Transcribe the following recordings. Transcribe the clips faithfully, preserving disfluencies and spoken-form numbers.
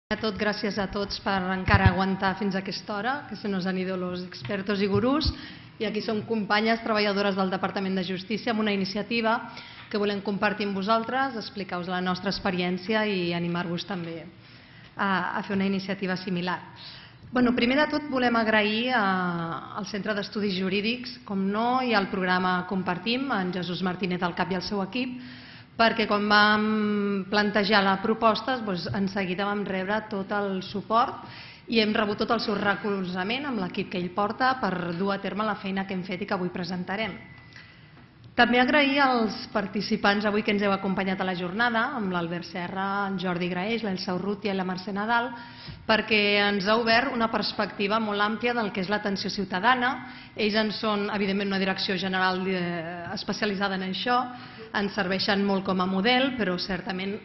A tot, gràcies a tots per encara aguantar fins a aquesta hora, que se nos han ido los expertos y gurús, i aquí som companyes treballadores del Departament de Justícia amb una iniciativa que volem compartir amb vosaltres, explicar-vos la nostra experiència i animar-vos també a, a fer una iniciativa similar. Bueno, primer de tot volem agrair a, al Centre d'Estudis Jurídics, com no, i al programa Compartim, en Jesús Martínez al cap i al seu equip, perquè quan vam plantejar la proposta, doncs, en seguida vam rebre tot el suport i hem rebut tot el seu recolzament amb l'equip que ell porta per dur a terme la feina que hem fet i que avui presentarem. També agrair als participants avui que ens heu acompanyat a la jornada, amb l'Albert Serra, en Jordi Graeix, l'Elsa Urrutia i la Mercè Nadal, perquè ens ha obert una perspectiva molt àmplia del que és l'atenció ciutadana. Ells en són, evidentment, una direcció general especialitzada en això, ens serveixen molt com a model, però certament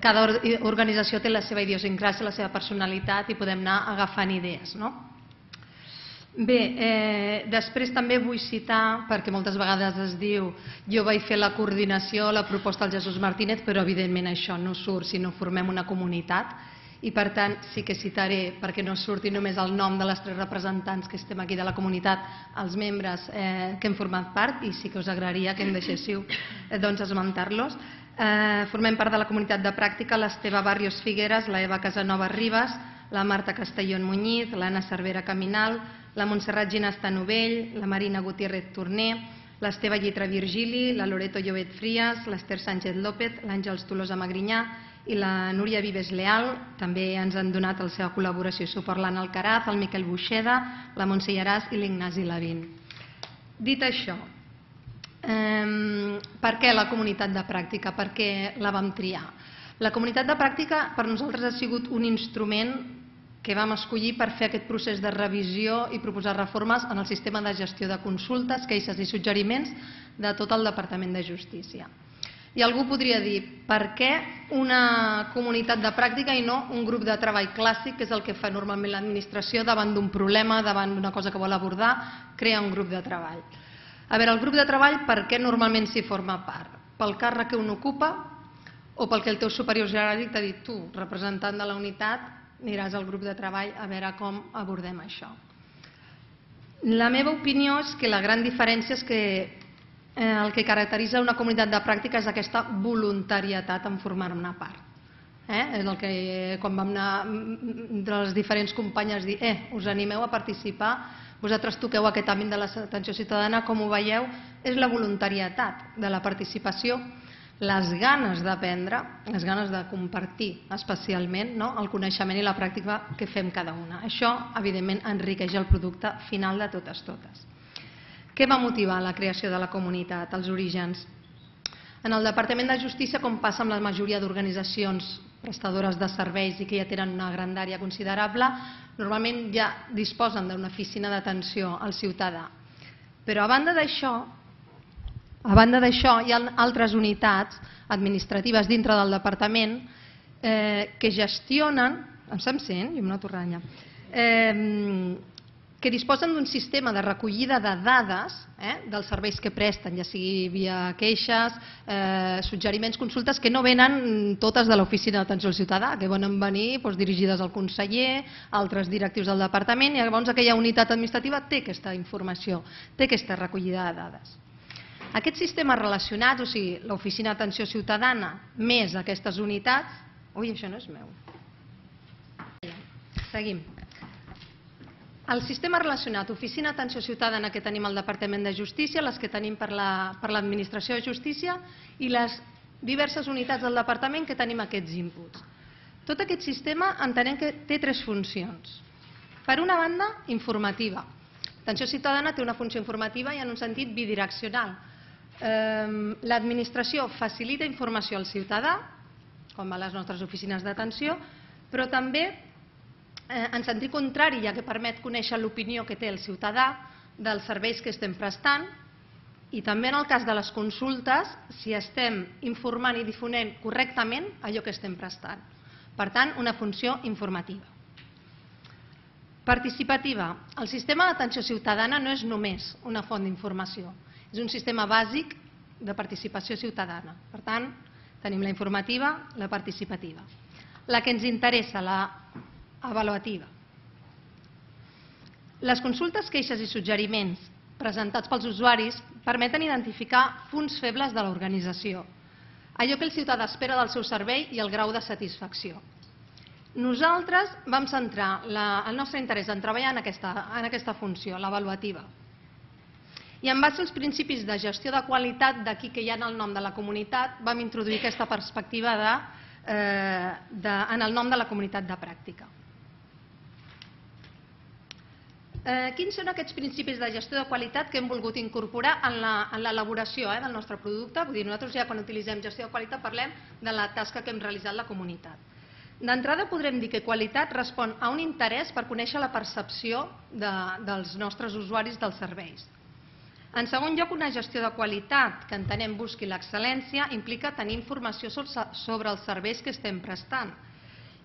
cada organització té la seva idiosincràsia, la seva personalitat i podem anar agafant idees, no? Bé, eh, després també vull citar, perquè moltes vegades es diu jo vaig fer la coordinació, la proposta del Jesús Martínez, però evidentment això no surt si no formem una comunitat i per tant sí que citaré, perquè no surti només el nom de les tres representants que estem aquí de la comunitat, els membres eh, que hem format part, i sí que us agradaria que em deixéssiu eh, doncs esmentar-los. Eh, formem part de la comunitat de pràctica l'Esteve Barrios Figueres, la Eva Casanova Ribas, la Marta Castellón Muñiz, l'Anna Cervera Caminal, la Montserrat Ginasta Novell, la Marina Gutiérrez Torner, l'Esteve Llitra Virgili, la Loreto Llobet Frías, l'Ester Sánchez López, l'Àngels Tolosa Magrinyà i la Núria Vives Leal. També ens han donat la seva col·laboració i suport l'Anna Alcaraz, el Miquel Buixeda, la Montse Llaràs i l'Ignasi Lavín. Dit això, eh, per què la comunitat de pràctica? Per què la vam triar? La comunitat de pràctica per nosaltres ha sigut un instrument que vam escollir per fer aquest procés de revisió i proposar reformes en el sistema de gestió de consultes, queixes i suggeriments de tot el Departament de Justícia. I algú podria dir, per què una comunitat de pràctica i no un grup de treball clàssic, que és el que fa normalment l'administració davant d'un problema, davant d'una cosa que vol abordar, crea un grup de treball. A veure, el grup de treball, per què normalment s'hi forma part? Pel càrrec que un ocupa o perquè el teu superior jeràrquic t'ha dit tu, representant de la unitat, aniràs al grup de treball a veure com abordem això. La meva opinió és que la gran diferència és que el que caracteritza una comunitat de pràctica és aquesta voluntarietat en formar-ne part. És el que quan vam anar entre les diferents companyes dir eh, us animeu a participar, vosaltres toqueu aquest àmbit de l'atenció ciutadana, com ho veieu, és la voluntarietat de la participació, les ganes d'aprendre, les ganes de compartir especialment el coneixement i la pràctica que fem cada una. Això, evidentment, enriqueix el producte final de totes totes. Què va motivar la creació de la comunitat, els orígens? En el Departament de Justícia, com passa amb la majoria d'organitzacions prestadores de serveis i que ja tenen una grandària considerable, normalment ja disposen d'una oficina d'atenció al ciutadà. Però a banda d'això, A banda d'això, hi ha altres unitats administratives dintre del departament que gestionen, em sent? Jo em noto ranya, que disposen d'un sistema de recollida de dades dels serveis que presten, ja sigui via queixes, suggeriments, consultes, que no venen totes de l'oficina d'atenció al ciutadà, que poden venir dirigides al conseller, a altres directius del departament, i llavors aquella unitat administrativa té aquesta informació, té aquesta recollida de dades. Aquest sistema relacionat, o sigui, l'oficina d'atenció ciutadana més aquestes unitats... Ui, això no és meu. Seguim. El sistema relacionat, oficina d'atenció ciutadana que tenim al Departament de Justícia, les que tenim per l'Administració de Justícia i les diverses unitats del Departament que tenim aquests inputs. Tot aquest sistema entenem que té tres funcions. Per una banda, informativa. L'atenció ciutadana té una funció informativa i en un sentit bidireccional. L'administració facilita informació al ciutadà, com a les nostres oficines d'atenció, però també en sentit contrari, ja que permet conèixer l'opinió que té el ciutadà dels serveis que estem prestant, i també en el cas de les consultes, si estem informant i difonent correctament allò que estem prestant. Per tant, una funció informativa. Participativa. El sistema d'atenció ciutadana no és només una font d'informació, és un sistema bàsic de participació ciutadana. Per tant, tenim la informativa, la participativa. La que ens interessa, la avaluativa. Les consultes, queixes i suggeriments presentats pels usuaris permeten identificar punts febles de l'organització, allò que el ciutadà espera del seu servei i el grau de satisfacció. Nosaltres vam centrar el nostre interès en treballar en aquesta funció, l'avaluativa. I en base als principis de gestió de qualitat, d'aquí que hi ha en el nom de la comunitat, vam introduir aquesta perspectiva en el nom de la comunitat de pràctica. Quins són aquests principis de gestió de qualitat que hem volgut incorporar en l'elaboració del nostre producte? Vull dir, nosaltres ja quan utilitzem gestió de qualitat parlem de la tasca que hem realitzat la comunitat. D'entrada podrem dir que qualitat respon a un interès per conèixer la percepció dels nostres usuaris dels serveis. En segon lloc, una gestió de qualitat que entenem busqui l'excel·lència implica tenir informació sobre els serveis que estem prestant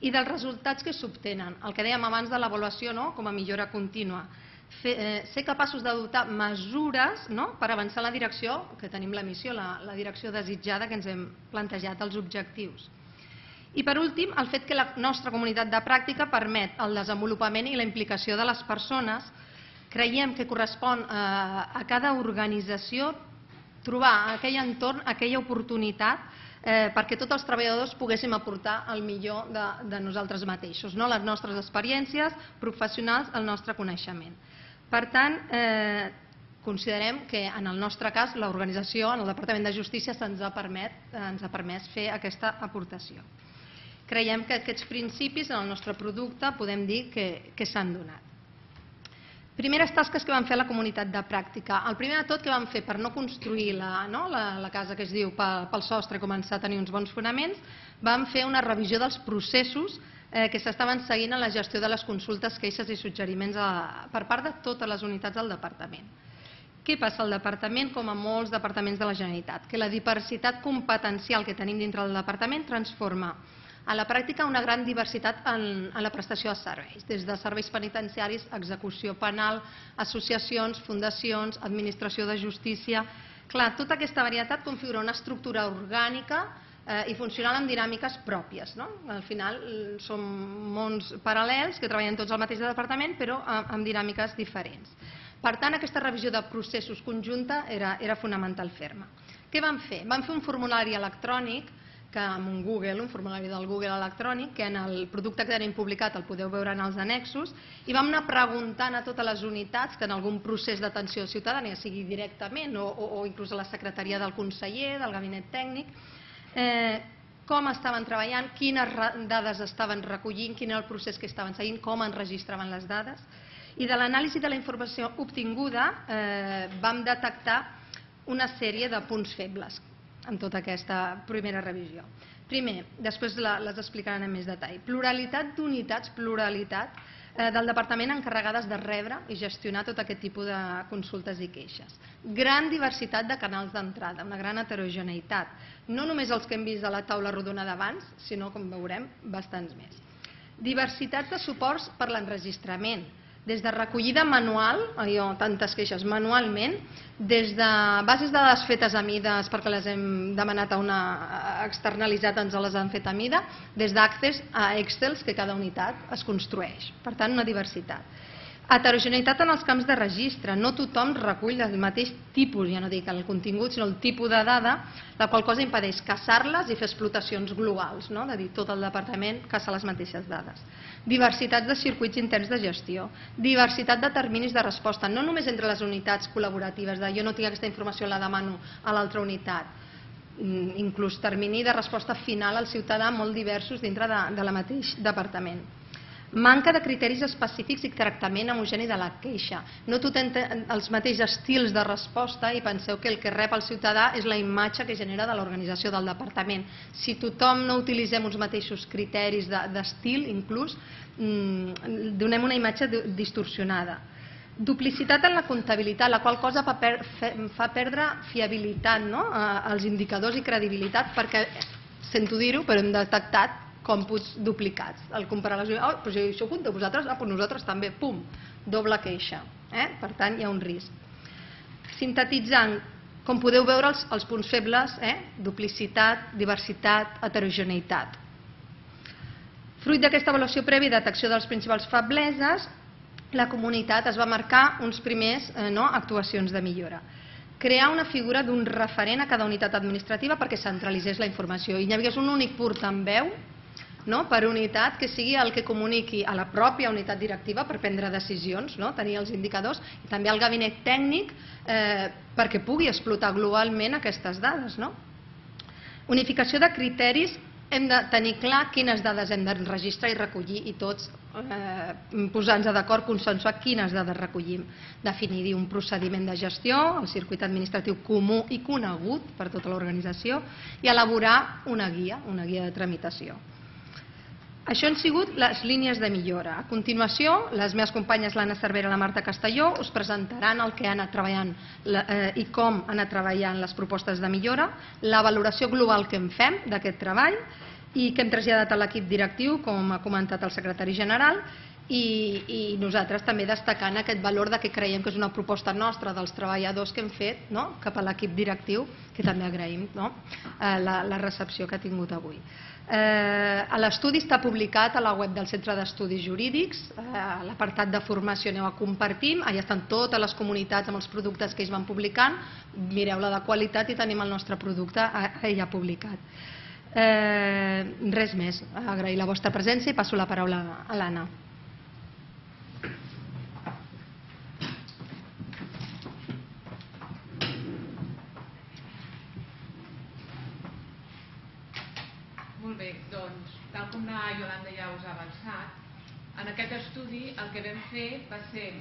i dels resultats que s'obtenen, el que dèiem abans de l'avaluació com a millora contínua. Ser capaços d'adoptar mesures per avançar en la direcció que tenim la missió, la direcció desitjada que ens hem plantejat, els objectius. I per últim, el fet que la nostra comunitat de pràctica permet el desenvolupament i la implicació de les persones. Creiem que correspon a cada organització trobar aquell entorn, aquella oportunitat perquè tots els treballadors poguéssim aportar el millor de nosaltres mateixos, les nostres experiències professionals, el nostre coneixement. Per tant, considerem que en el nostre cas l'organització, en el Departament de Justícia, ens ha permès fer aquesta aportació. Creiem que aquests principis en el nostre producte podem dir que s'han donat. Primeres tasques que vam fer a la comunitat de pràctica. El primer de tot que vam fer per no construir la casa que es diu pel sostre i començar a tenir uns bons fonaments, vam fer una revisió dels processos que s'estaven seguint en la gestió de les consultes, queixes i suggeriments per part de totes les unitats del departament. Què passa al departament, com a molts departaments de la Generalitat? Que la diversitat competencial que tenim dintre del departament transforma a la pràctica una gran diversitat en la prestació de serveis, des de serveis penitenciaris, execució penal, associacions, fundacions, administració de justícia. Clar, tota aquesta varietat configura una estructura orgànica i funcional amb dinàmiques pròpies. Al final són mons paral·lels que treballen tots al mateix departament però amb dinàmiques diferents. Per tant, aquesta revisió de processos conjunta era fonamental fer-ne. Què vam fer? Vam fer un formulari electrònic amb un Google, un formulari del Google electrònic, que en el producte que tenim publicat el podeu veure en els annexos, i vam anar preguntant a totes les unitats que en algun procés d'atenció ciutadana, sigui directament o inclús a la secretaria del conseller, del gabinet tècnic, com estaven treballant, quines dades estaven recollint, quin era el procés que estaven seguint, com enregistraven les dades. I de l'anàlisi de la informació obtinguda vam detectar una sèrie de punts febles en tota aquesta primera revisió. Primer, després les explicaran en més detall. Pluralitat d'unitats, pluralitat del departament encarregades de rebre i gestionar tot aquest tipus de consultes i queixes. Gran diversitat de canals d'entrada, una gran heterogeneïtat. No només els que hem vist a la taula rodona d'abans, sinó, com veurem, bastants més. Diversitat de suports per l'enregistrament, des de recollida manual, allò, tantes queixes manualment, des de bases de dades fetes a mides perquè les hem demanat a una externalitzat, ens les han fet a mida, des d'Access a Excels que cada unitat es construeix. Per tant, una diversitat. Heterogeneïtat en els camps de registre. No tothom recull el mateix tipus, ja no dic el contingut, sinó el tipus de dada, la qual cosa impedeix caçar-les i fer explotacions globals, de dir, tot el departament caça les mateixes dades. Diversitat de circuits interns de gestió. Diversitat de terminis de resposta, no només entre les unitats col·laboratives, de jo no tinc aquesta informació, la demano a l'altra unitat. Inclús termini de resposta final al ciutadà molt diversos dintre del mateix departament. Manca de criteris específics i tractament homogeni de la queixa. No tothom té els mateixos estils de resposta i penseu que el que rep el ciutadà és la imatge que genera de l'organització del departament. Si tothom no utilitzem uns mateixos criteris d'estil, inclús, donem una imatge distorsionada. Duplicitat en la comptabilitat, la qual cosa fa perdre fiabilitat als indicadors i credibilitat perquè, sento dir-ho, però hem detectat còmputs duplicats. Al comparar les unitats, oh, però si això ho compteu vosaltres, ah, però nosaltres també, pum, doble queixa. Per tant, hi ha un risc. Sintetitzant, com podeu veure, els punts febles, duplicitat, diversitat, heterogeneïtat. Fruit d'aquesta avaluació prèvia i detecció de les principals febleses, la comunitat es va marcar uns primers actuacions de millora. Crear una figura d'un referent a cada unitat administrativa perquè centralitzés la informació i hi hagués un únic portaveu per unitat que sigui el que comuniqui a la pròpia unitat directiva per prendre decisions, tenir els indicadors, i també al gabinet tècnic perquè pugui explotar globalment aquestes dades. Unificació de criteris, hem de tenir clar quines dades hem de registrar i recollir i tots posar-nos d'acord, consensuar quines dades recollim. Definir un procediment de gestió, el circuit administratiu comú i conegut per tota l'organització i elaborar una guia, una guia de tramitació. Això han sigut les línies de millora. A continuació, les meves companyes l'Anna Cervera i la Marta Castelló us presentaran el que han anat treballant i com han anat treballant les propostes de millora, la valoració global que en fem d'aquest treball i que hem traslladat a l'equip directiu, com ha comentat el secretari general, i nosaltres també destacant aquest valor que creiem que és una proposta nostra dels treballadors que hem fet cap a l'equip directiu, que també agraïm la recepció que ha tingut avui. L'estudi està publicat a la web del Centre d'Estudis Jurídics, a l'apartat de formació aneu a compartir, allà estan totes les comunitats amb els productes que ells van publicant, mireu-la de qualitat i tenim el nostre producte allà publicat. Res més, agrair la vostra presència i passo la paraula a l'Anna. Molt bé, doncs, tal com la Iolanda ja us ha avançat, en aquest estudi el que vam fer va ser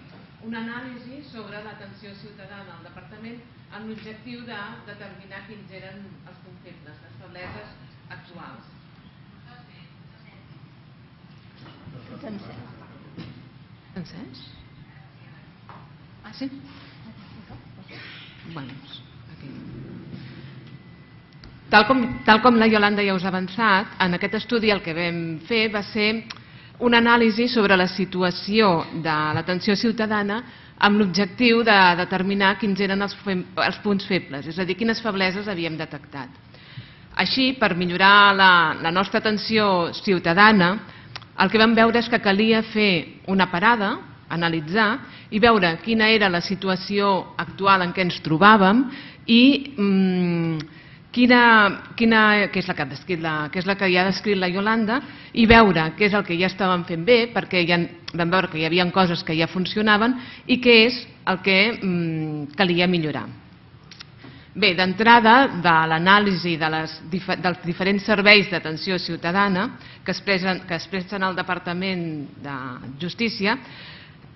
una anàlisi sobre l'atenció ciutadana al departament amb l'objectiu de determinar quins eren els punts febles, les febleses actuals. Encès? Ah, sí? Bueno, aquí. Tal com, tal com la Iolanda ja us ha avançat, en aquest estudi el que vam fer va ser una anàlisi sobre la situació de l'atenció ciutadana amb l'objectiu de determinar quins eren els, els punts febles, és a dir, quines febleses havíem detectat. Així, per millorar la, la nostra atenció ciutadana, el que vam veure és que calia fer una parada, analitzar i veure quina era la situació actual en què ens trobàvem i mmm, quina, quina, que, és la que, descrit la, que és la que ja ha descrit la Iolanda, i veure què és el que ja estàvem fent bé, perquè ja vam veure que hi havia coses que ja funcionaven i què és el que mmm, calia millorar. Bé, d'entrada, de l'anàlisi de dels diferents serveis d'atenció ciutadana que es presten al Departament de Justícia,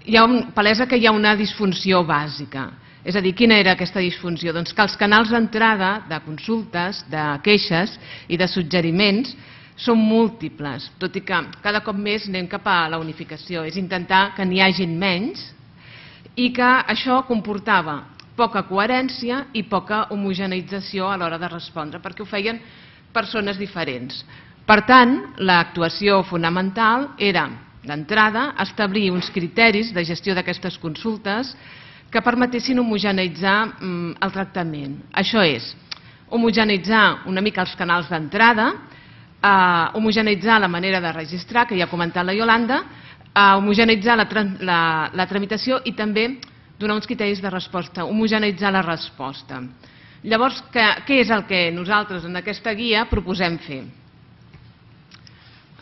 hi ha palesa que hi ha una disfunció bàsica. És a dir, quina era aquesta disfunció? Doncs que els canals d'entrada de consultes, de queixes i de suggeriments són múltiples, tot i que cada cop més anem cap a la unificació. És intentar que n'hi hagin menys i que això comportava poca coherència i poca homogeneïtzació a l'hora de respondre, perquè ho feien persones diferents. Per tant, l'actuació fonamental era, d'entrada, establir uns criteris de gestió d'aquestes consultes que permetessin homogeneïtzar el tractament. Això és, homogeneïtzar una mica els canals d'entrada, homogeneïtzar la manera de registrar, que ja ha comentat la Iolanda, homogeneïtzar la tramitació i també donar uns criteris de resposta, homogeneïtzar la resposta. Llavors, què és el que nosaltres en aquesta guia proposem fer?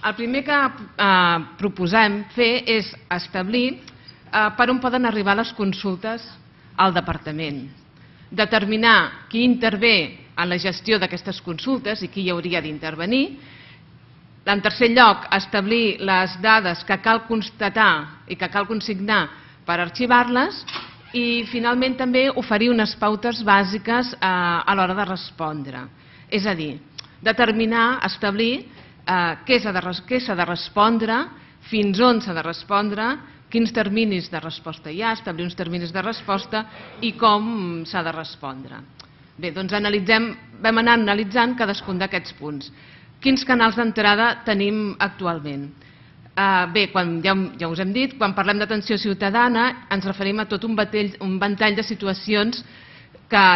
El primer que proposem fer és establir per on poden arribar les consultes al departament, determinar qui intervé en la gestió d'aquestes consultes i qui hi hauria d'intervenir. En tercer lloc, establir les dades que cal constatar i que cal consignar per arxivar-les i, finalment, també oferir unes pautes bàsiques a l'hora de respondre. És a dir, determinar, establir què s'ha de respondre, fins on s'ha de respondre, quins terminis de resposta hi ha, establir uns terminis de resposta i com s'ha de respondre. Bé, doncs vam anar analitzant cadascun d'aquests punts. Quins canals d'entrada tenim actualment? Bé, ja us hem dit, quan parlem d'atenció ciutadana ens referim a tot un ventall de situacions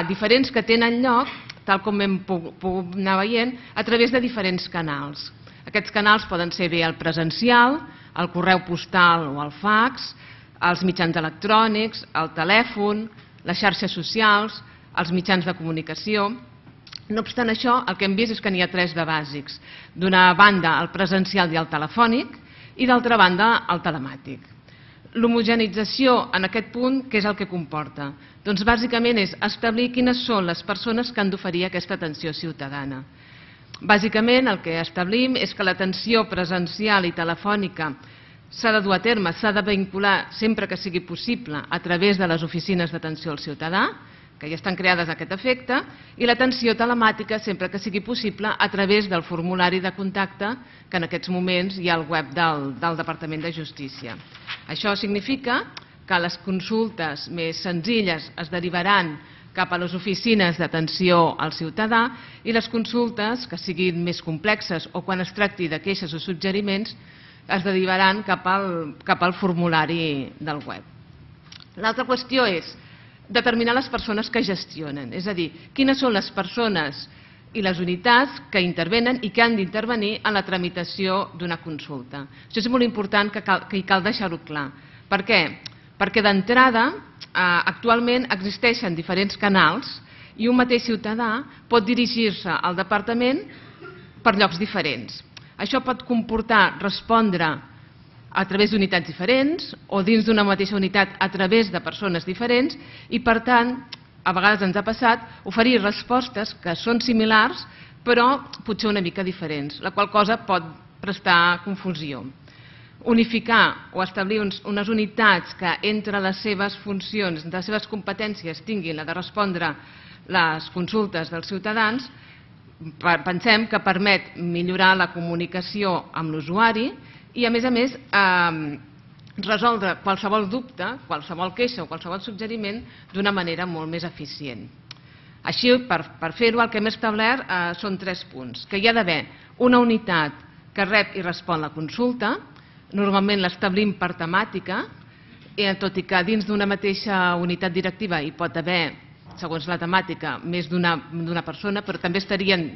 diferents que tenen lloc, tal com hem pogut anar veient, a través de diferents canals. Aquests canals poden ser bé el presencial, el correu postal o el fax, els mitjans electrònics, el telèfon, les xarxes socials, els mitjans de comunicació. No obstant això, el que hem vist és que n'hi ha tres de bàsics. D'una banda, el presencial i el telefònic, i d'altra banda, el telemàtic. L'homogenització en aquest punt, què és el que comporta? Doncs bàsicament és establir quines són les persones que han d'oferir aquesta atenció ciutadana. Bàsicament el que establim és que l'atenció presencial i telefònica s'ha de dur a terme, s'ha de vincular sempre que sigui possible a través de les oficines d'atenció al ciutadà, que ja estan creades a aquest efecte, i l'atenció telemàtica sempre que sigui possible a través del formulari de contacte que en aquests moments hi ha al web del, del Departament de Justícia. Això significa que les consultes més senzilles es derivaran cap a les oficines d'atenció al ciutadà i les consultes que siguin més complexes o quan es tracti de queixes o suggeriments es derivaran cap al, cap al formulari del web. L'altra qüestió és determinar les persones que gestionen, és a dir, quines són les persones i les unitats que intervenen i que han d'intervenir en la tramitació d'una consulta. Això és molt important que cal, que cal deixar-ho clar. Per què? Perquè d'entrada, eh, actualment existeixen diferents canals i un mateix ciutadà pot dirigir-se al departament per llocs diferents. Això pot comportar respondre a través d'unitats diferents o dins d'una mateixa unitat a través de persones diferents i, per tant, a vegades ens ha passat oferir respostes que són similars però potser una mica diferents, la qual cosa pot prestar confusió. Unificar o establir uns, unes unitats que entre les seves funcions, les seves competències tinguin la de respondre les consultes dels ciutadans, pensem que permet millorar la comunicació amb l'usuari i, a més a més, eh, resoldre qualsevol dubte, qualsevol queixa o qualsevol suggeriment d'una manera molt més eficient. Així, per, per fer-ho, el que hem establert eh, són tres punts. Que hi ha d'haver una unitat que rep i respon la consulta, normalment l'establim per temàtica, eh, tot i que dins d'una mateixa unitat directiva hi pot haver, segons la temàtica, més d'una persona, però també estarien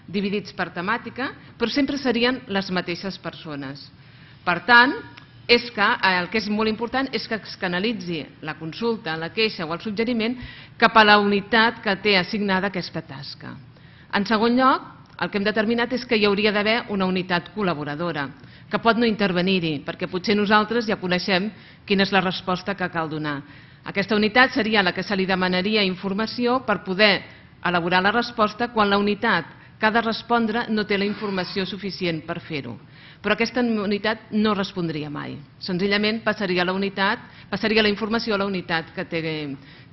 dividits per temàtica, però sempre serien les mateixes persones. Per tant, és que, el que és molt important és que es canalitzi la consulta, la queixa o el suggeriment cap a la unitat que té assignada aquesta tasca. En segon lloc, el que hem determinat és que hi hauria d'haver una unitat col·laboradora, que pot no intervenir-hi, perquè potser nosaltres ja coneixem quina és la resposta que cal donar. Aquesta unitat seria la que se li demanaria informació per poder elaborar la resposta quan la unitat que ha de respondre no té la informació suficient per fer-ho. Però aquesta unitat no respondria mai. Senzillament passaria la unitat, passaria la informació a la unitat que té,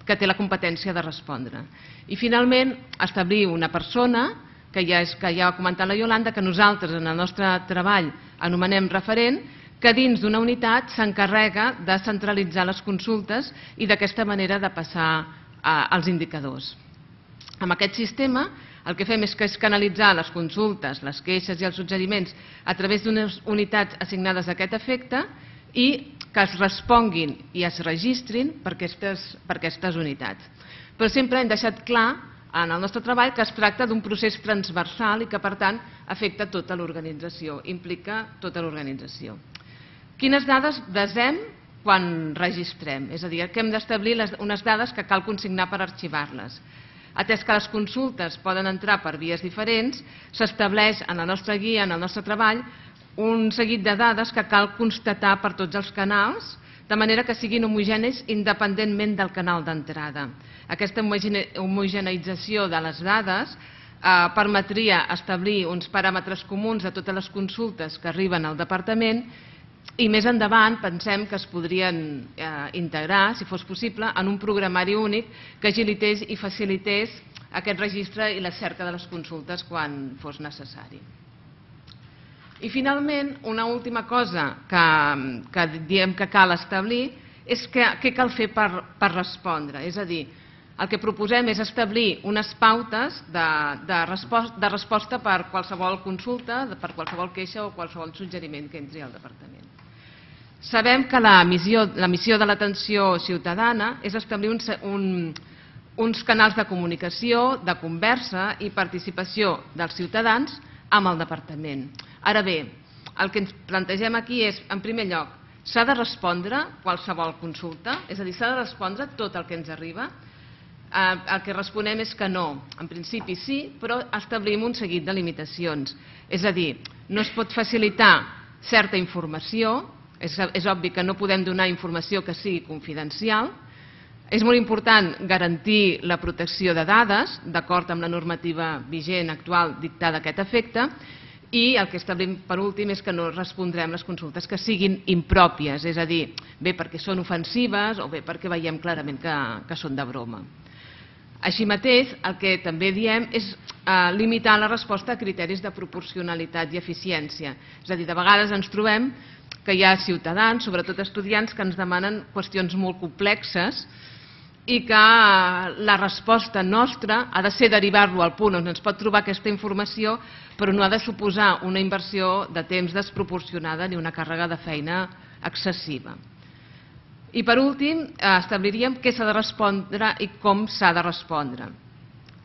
que té la competència de respondre. I finalment, establir una persona, que ja, és, que ja ha comentat la Iolanda, que nosaltres en el nostre treball anomenem referent, que dins d'una unitat s'encarrega de centralitzar les consultes i d'aquesta manera de passar als indicadors. Amb aquest sistema, el que fem és que és canalitzar les consultes, les queixes i els suggeriments a través d'unes unitats assignades a aquest efecte i que es responguin i es registrin per aquestes, per aquestes unitats. Però sempre hem deixat clar en el nostre treball que es tracta d'un procés transversal i que, per tant, afecta tota l'organització, implica tota l'organització. Quines dades desem quan registrem? És a dir, que hem d'establir unes dades que cal consignar per arxivar-les. Atès que les consultes poden entrar per vies diferents, s'estableix en la nostra guia, en el nostre treball, un seguit de dades que cal constatar per tots els canals, de manera que siguin homogenis independentment del canal d'entrada. Aquesta homogeneïtzació de les dades eh, permetria establir uns paràmetres comuns a totes les consultes que arriben al departament i més endavant pensem que es podrien eh, integrar, si fos possible, en un programari únic que agilités i facilités aquest registre i la cerca de les consultes quan fos necessari. I finalment, una última cosa que, que diem que cal establir és que, què cal fer per, per respondre. És a dir, el que proposem és establir unes pautes de, de, resposta, de resposta per qualsevol consulta, per qualsevol queixa o qualsevol suggeriment que entri al departament. Sabem que la missió, la missió de l'atenció ciutadana és establir un, un, uns canals de comunicació, de conversa i participació dels ciutadans amb el departament. Ara bé, el que ens plantegem aquí és, en primer lloc, s'ha de respondre qualsevol consulta, és a dir, s'ha de respondre tot el que ens arriba. El que responem és que no. En principi sí, però establim un seguit de limitacions. És a dir, no es pot facilitar certa informació, és obvi que no podem donar informació que sigui confidencial. És molt important garantir la protecció de dades, d'acord amb la normativa vigent actual dictada a aquest efecte, i el que establim per últim és que no respondrem les consultes que siguin impròpies, és a dir, bé perquè són ofensives o bé perquè veiem clarament que, que són de broma. Així mateix, el que també diem és eh, limitar la resposta a criteris de proporcionalitat i eficiència. És a dir, de vegades ens trobem que hi ha ciutadans, sobretot estudiants, que ens demanen qüestions molt complexes i que la resposta nostra ha de ser derivar-lo al punt on ens pot trobar aquesta informació, però no ha de suposar una inversió de temps desproporcionada ni una càrrega de feina excessiva. I per últim, establiríem què s'ha de respondre i com s'ha de respondre.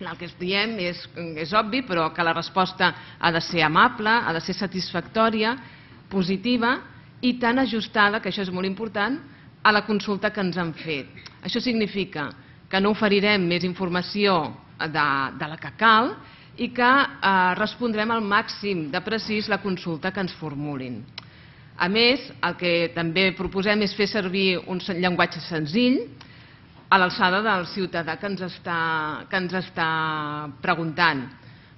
El que diem és, és obvi, però que la resposta ha de ser amable, ha de ser satisfactòria, positiva i tan ajustada, que això és molt important, a la consulta que ens han fet. Això significa que no oferirem més informació de, de la que cal i que eh, respondrem al màxim de precís la consulta que ens formulin. A més, el que també proposem és fer servir un llenguatge senzill a l'alçada del ciutadà que ens està, que ens està preguntant.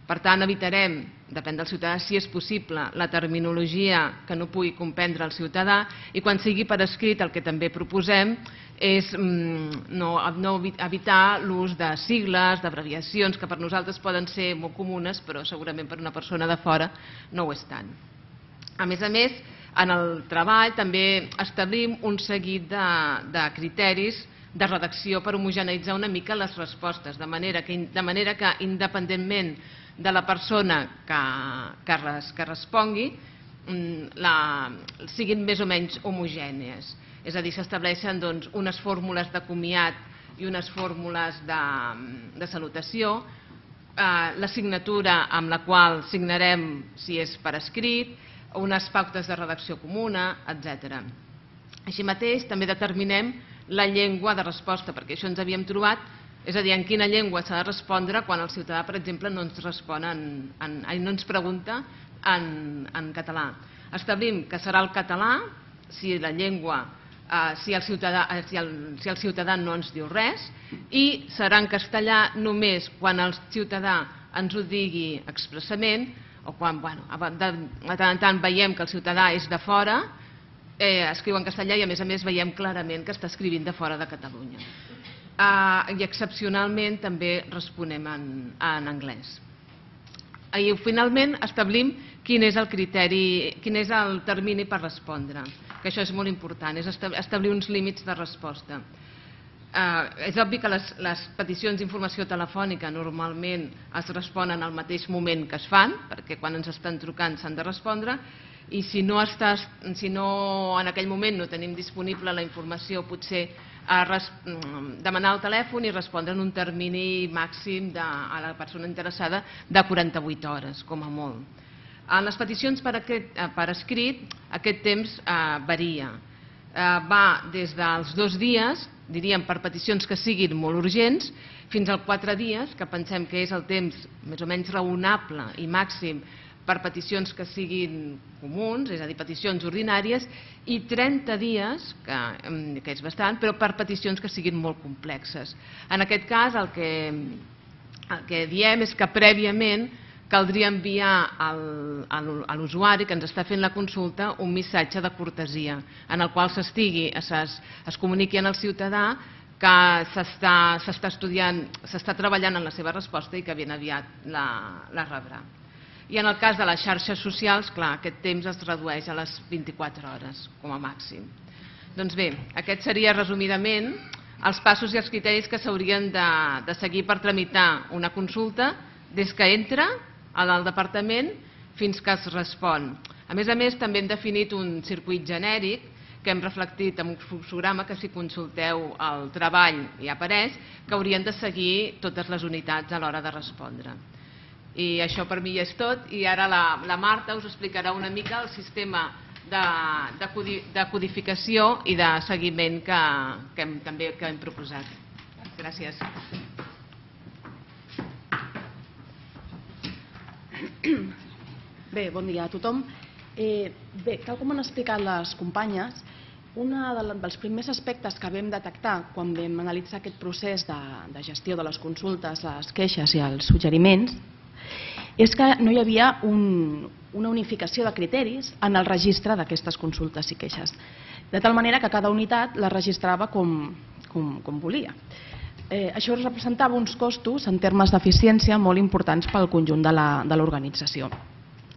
Per tant, evitarem, depèn del ciutadà, si és possible, la terminologia que no pugui comprendre el ciutadà i quan sigui per escrit el que també proposem és no, no evitar l'ús de sigles, d'abreviacions, que per nosaltres poden ser molt comunes, però segurament per una persona de fora no ho és tant. A més a més, en el treball també establim un seguit de, de criteris de redacció per homogeneïtzar una mica les respostes, de manera que, de manera que independentment de la persona que, que, res, que respongui, la, siguin més o menys homogènies. És a dir, s'estableixen doncs, unes fórmules de comiat i unes fórmules de, de salutació, eh, la signatura amb la qual signarem si és per escrit, unes pautes de redacció comuna, etcètera. Així mateix, també determinem la llengua de resposta, perquè això ens havíem trobat, és a dir, en quina llengua s'ha de respondre quan el ciutadà, per exemple, no ens respon, en, en, no ens pregunta en, en català. Establim que serà el català si la llengua, eh, si, el ciutadà, si, el, si el ciutadà no ens diu res, i serà en castellà només quan el ciutadà ens ho digui expressament, o quan, bueno, de tant en tant veiem que el ciutadà és de fora, eh, escriu en castellà i a més a més veiem clarament que està escrivint de fora de Catalunya. Eh, I excepcionalment també responem en, en anglès. I finalment establim quin és el criteri, quin és el termini per respondre, que això és molt important, és establir uns límits de resposta. Eh, és obvi que les, les peticions d'informació telefònica normalment es responen al mateix moment que es fan, perquè quan ens estan trucant s'han de respondre, i si no, estàs, si no en aquell moment no tenim disponible la informació, potser a res, demanar el telèfon i respondre en un termini màxim de, a la persona interessada de quaranta-vuit hores, com a molt. En les peticions per, aquest, per escrit, aquest temps eh, varia. Eh, va des dels dos dies, diríem per peticions que siguin molt urgents, fins als quatre dies, que pensem que és el temps més o menys raonable i màxim per peticions que siguin comuns, és a dir, peticions ordinàries, i trenta dies, que, que és bastant, però per peticions que siguin molt complexes. En aquest cas, el que, el que diem és que prèviament caldria enviar al, a l'usuari que ens està fent la consulta un missatge de cortesia en el qual s'estigui, es, es comuniqui al ciutadà que s'està estudiant, s'està treballant en la seva resposta i que ben aviat la, la rebrà. I en el cas de les xarxes socials, clar, aquest temps es redueix a les vint-i-quatre hores, com a màxim. Doncs bé, aquest seria resumidament els passos i els criteris que s'haurien de, de seguir per tramitar una consulta des que entra al departament fins que es respon. A més a més, també hem definit un circuit genèric que hem reflectit en un fluxograma que si consulteu el treball hi apareix, que haurien de seguir totes les unitats a l'hora de respondre. I això per mi ja és tot, i ara la Marta us explicarà una mica el sistema de codificació i de seguiment que també hem proposat. Gràcies. Bé, bon dia a tothom. Bé, tal com han explicat les companyes, un dels primers aspectes que vam detectar quan vam analitzar aquest procés de gestió de les consultes, les queixes i els suggeriments és que no hi havia una unificació de criteris en el registre d'aquestes consultes i queixes, de tal manera que cada unitat les registrava com volia. Això representava uns costos en termes d'eficiència molt importants pel conjunt de l'organització.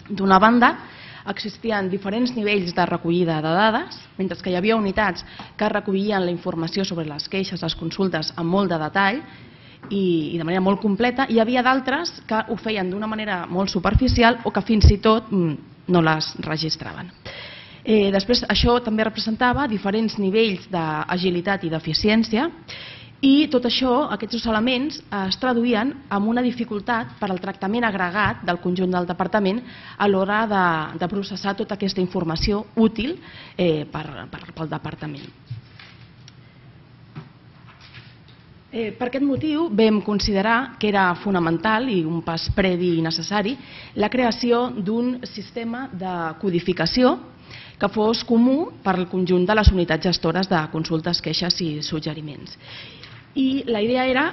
D'una banda, existien diferents nivells de recollida de dades, mentre que hi havia unitats que recollien la informació sobre les queixes, les consultes, amb molt de detall i de manera molt completa, i hi havia d'altres que ho feien d'una manera molt superficial o que fins i tot no les registraven. Després, això també representava diferents nivells d'agilitat i d'eficiència, i tot això, aquests dos elements, es traduïen en una dificultat per al tractament agregat del conjunt del departament a l'hora de processar tota aquesta informació útil pel departament. Per aquest motiu vam considerar que era fonamental i un pas previ i necessari la creació d'un sistema de codificació que fos comú per al conjunt de les unitats gestores de consultes, queixes i suggeriments. I la idea era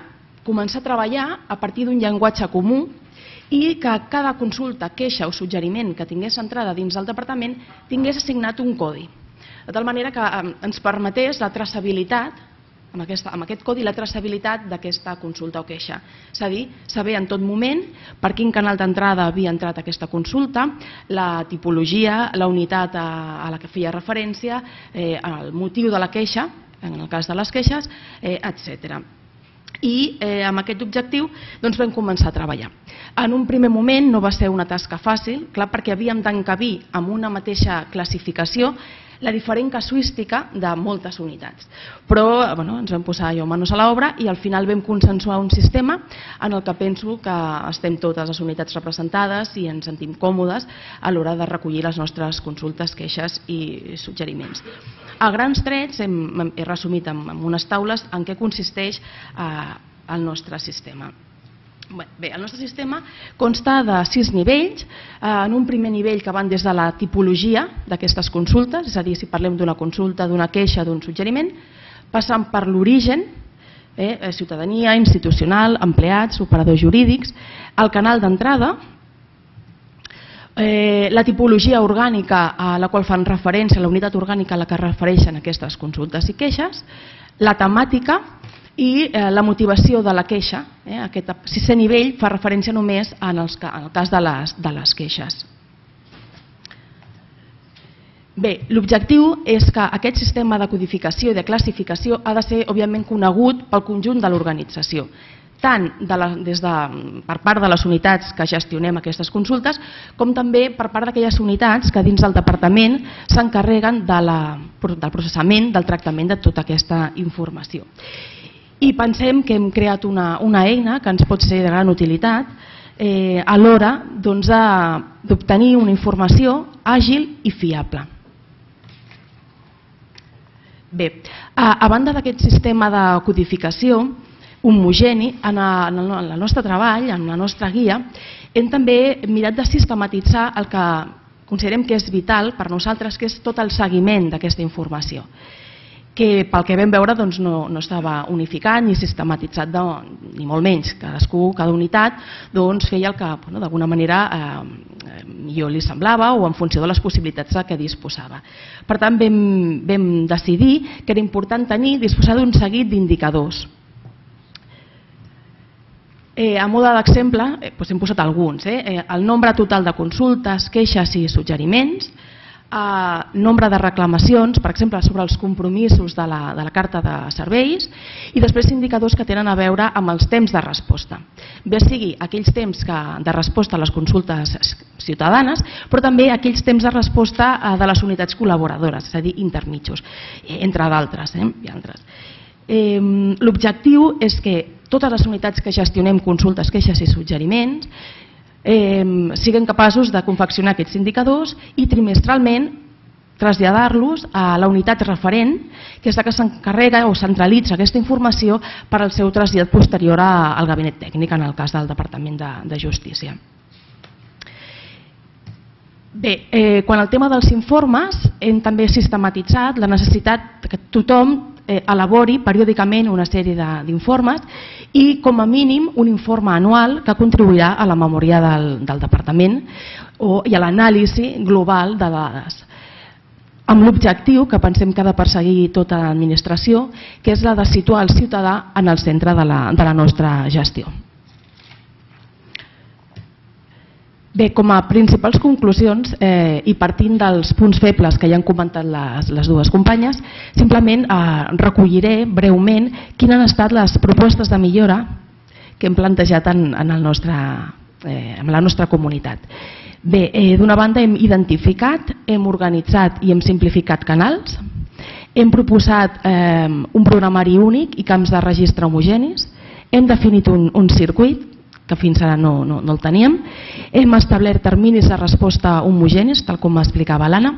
començar a treballar a partir d'un llenguatge comú i que cada consulta, queixa o suggeriment que tingués entrada dins del departament tingués assignat un codi, de tal manera que ens permetés la traçabilitat, amb aquest codi, la traçabilitat d'aquesta consulta o queixa. És a dir, saber en tot moment per quin canal d'entrada havia entrat aquesta consulta, la tipologia, la unitat a la que feia referència, el motiu de la queixa, en el cas de les queixes, etcètera. I amb aquest objectiu vam començar a treballar. En un primer moment no va ser una tasca fàcil, clar, perquè havíem d'encabir amb una mateixa classificació la diferent casuística de moltes unitats. Però ens vam posar allò manos a l'obra i al final vam consensuar un sistema en el que penso que estem totes les unitats representades i ens sentim còmodes a l'hora de recollir les nostres consultes, queixes i suggeriments. A grans trets he resumit en unes taules en què consisteix el nostre sistema. Bé, el nostre sistema consta de sis nivells. En un primer nivell que van des de la tipologia d'aquestes consultes, és a dir, si parlem d'una consulta, d'una queixa, d'un suggeriment, passant per l'origen, ciutadania, institucional, empleats, operadors jurídics, el canal d'entrada, la tipologia orgànica a la qual fan referència, la unitat orgànica a la que refereixen aquestes consultes i queixes, la temàtica i la motivació de la queixa. Aquest sisè nivell fa referència només en el cas de les queixes. Bé, l'objectiu és que aquest sistema de codificació i de classificació ha de ser, òbviament, conegut pel conjunt de l'organització, tant per part de les unitats que gestionem aquestes consultes, com també per part d'aquelles unitats que dins del departament s'encarreguen del processament, del tractament de tota aquesta informació. I pensem que hem creat una eina que ens pot ser de gran utilitat a l'hora d'obtenir una informació àgil i fiable. Bé, a banda d'aquest sistema de codificació homogeni, en el nostre treball, en la nostra guia, hem també mirat de sistematitzar el que considerem que és vital per nosaltres, que és tot el seguiment d'aquesta informació, que pel que vam veure no estava unificat ni sistematitzat, ni molt menys. Cadascú, cada unitat, feia el que d'alguna manera millor li semblava o en funció de les possibilitats de què disposava. Per tant, vam decidir que era important tenir, disposar d'un seguit d'indicadors. A mode d'exemple, hem posat alguns: el nombre total de consultes, queixes i suggeriments, nombre de reclamacions, per exemple, sobre els compromisos de la carta de serveis, i després indicadors que tenen a veure amb els temps de resposta. Bé sigui aquells temps de resposta a les consultes ciutadanes, però també aquells temps de resposta de les unitats col·laboradores, és a dir, intermitjos, entre d'altres. L'objectiu és que totes les unitats que gestionem consultes, queixes i suggeriments siguem capaços de confeccionar aquests indicadors i trimestralment traslladar-los a la unitat referent, que és la que s'encarrega o centralitza aquesta informació per al seu trasllat posterior al gabinet tècnic, en el cas del Departament de Justícia. Bé, eh, quan al tema dels informes hem també sistematitzat la necessitat que tothom eh, elabori periòdicament una sèrie d'informes i com a mínim un informe anual que contribuirà a la memòria del, del Departament o, i a l'anàlisi global de dades, amb l'objectiu que pensem que ha de perseguir tota l'administració, que és la de situar el ciutadà en el centre de la, de la nostra gestió. Bé, com a principals conclusions eh, i partint dels punts febles que ja han comentat les, les dues companyes, simplement eh, recolliré breument quines han estat les propostes de millora que hem plantejat en, en, el nostre, eh, en la nostra comunitat. Bé, eh, d'una banda hem identificat, hem organitzat i hem simplificat canals, hem proposat eh, un programari únic i camps de registre homogenis, hem definit un, un circuit, que fins ara no, no, no el teníem. Hem establert terminis de resposta homogenis, tal com explicava l'Anna.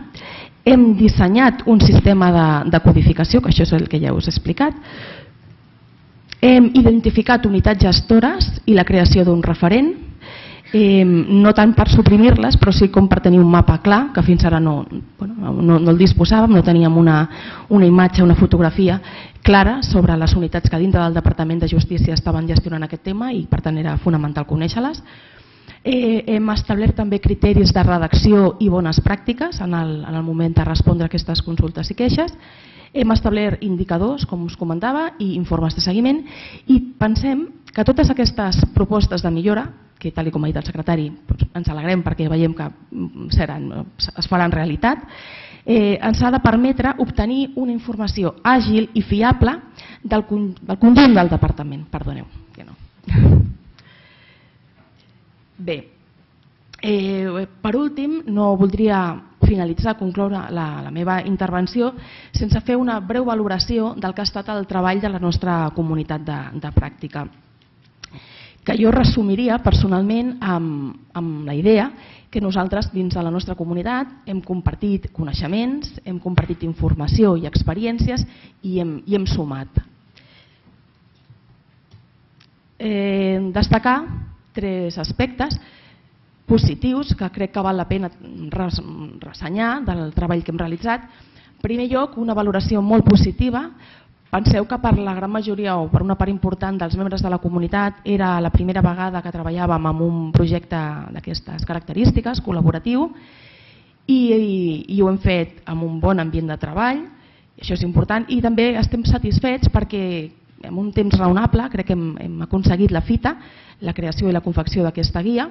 Hem dissenyat un sistema de, de codificació, que això és el que ja us he explicat. Hem identificat unitats gestores i la creació d'un referent, eh, no tant per suprimir-les, però sí com per tenir un mapa clar, que fins ara no, bueno, no, no el disposàvem, no teníem una, una imatge, una fotografia clara sobre les unitats que dintre del Departament de Justícia estaven gestionant aquest tema i per tant era fonamental conèixer-les. Eh, hem establert també criteris de redacció i bones pràctiques en el, en el moment de respondre a aquestes consultes i queixes. Hem establert indicadors, com us comentava, i informes de seguiment i pensem que totes aquestes propostes de millora, que tal com ha dit el secretari ens alegrem perquè veiem que seran, es faran realitat, eh, ens ha de permetre obtenir una informació àgil i fiable del, del conjunt del departament. Perdoneu, que no. Bé, eh, per últim, no voldria finalitzar, concloure la, la meva intervenció sense fer una breu valoració del que ha estat el treball de la nostra comunitat de, de pràctica, que jo resumiria personalment amb, amb la idea que nosaltres dins de la nostra comunitat hem compartit coneixements, hem compartit informació i experiències i hem, i hem sumat. Eh, destacar tres aspectes positius que crec que val la pena ressenyar del treball que hem realitzat. En primer lloc, una valoració molt positiva. Penseu que per la gran majoria o per una part important dels membres de la comunitat era la primera vegada que treballàvem en un projecte d'aquestes característiques, col·laboratiu, i, i, i ho hem fet amb un bon ambient de treball, i això és important, i també estem satisfets perquè en un temps raonable crec que hem, hem aconseguit la fita, la creació i la confecció d'aquesta guia,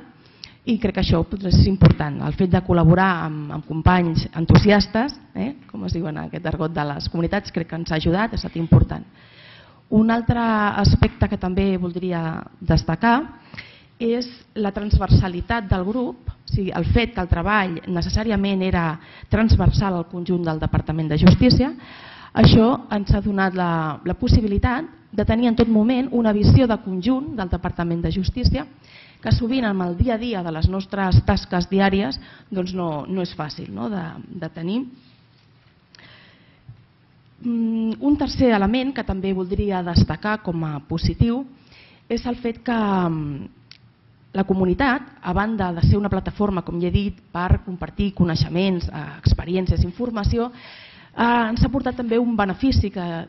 i crec que això és important, el fet de col·laborar amb, amb companys entusiastes, eh, com es diu en aquest argot de les comunitats, crec que ens ha ajudat, ha estat important. Un altre aspecte que també voldria destacar és la transversalitat del grup, o sigui, el fet que el treball necessàriament era transversal al conjunt del Departament de Justícia. Això ens ha donat la, la possibilitat de tenir en tot moment una visió de conjunt del Departament de Justícia que sovint amb el dia a dia de les nostres tasques diàries doncs no, no és fàcil, no, de, de tenir. Un tercer element que també voldria destacar com a positiu és el fet que la comunitat, a banda de ser una plataforma, com ja he dit, per compartir coneixements, experiències, informació, ens ha portat també un benefici que ha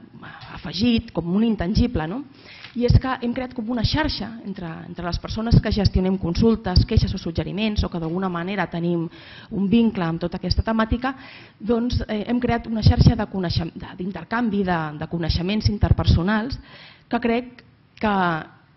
afegit com un intangible, no? I és que hem creat com una xarxa entre, entre les persones que gestionem consultes, queixes o suggeriments o que d'alguna manera tenim un vincle amb tota aquesta temàtica, doncs eh, hem creat una xarxa d'intercanvi de, de, de coneixements interpersonals que crec que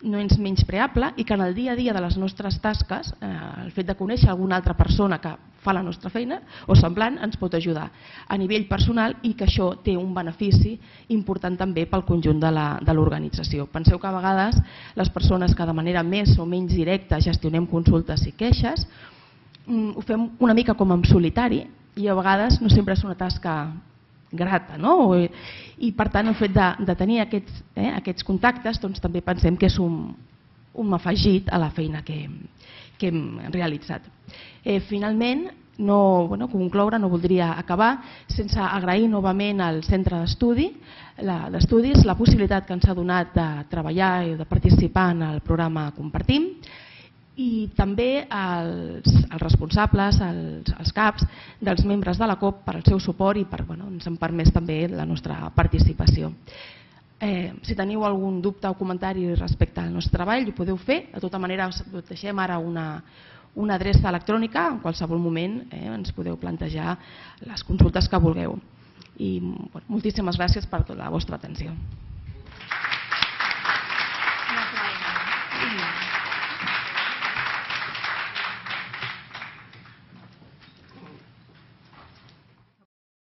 no és menyspreable i que en el dia a dia de les nostres tasques, eh, el fet de conèixer alguna altra persona que fa la nostra feina o semblant ens pot ajudar a nivell personal i que això té un benefici important també pel conjunt de l'organització. Penseu que a vegades les persones que de manera més o menys directa gestionem consultes i queixes ho fem una mica com en solitari i a vegades no sempre és una tasca grata, no? I per tant el fet de, de tenir aquests, eh, aquests contactes doncs, també pensem que és un, un afegit a la feina que, que hem realitzat. Eh, finalment, no, bueno, concloure, no voldria acabar sense agrair novament al centre d'estudi d'estudis la possibilitat que ens ha donat de treballar i de participar en el programa Compartim, i també als, als responsables, als, als caps dels membres de la COP per al seu suport i per, bueno, ens han permès també la nostra participació. Eh, si teniu algun dubte o comentari respecte al nostre treball, ho podeu fer. De tota manera, us deixem ara una, una adreça electrònica, en qualsevol moment eh, ens podeu plantejar les consultes que vulgueu. I bueno, moltíssimes gràcies per tota la vostra atenció.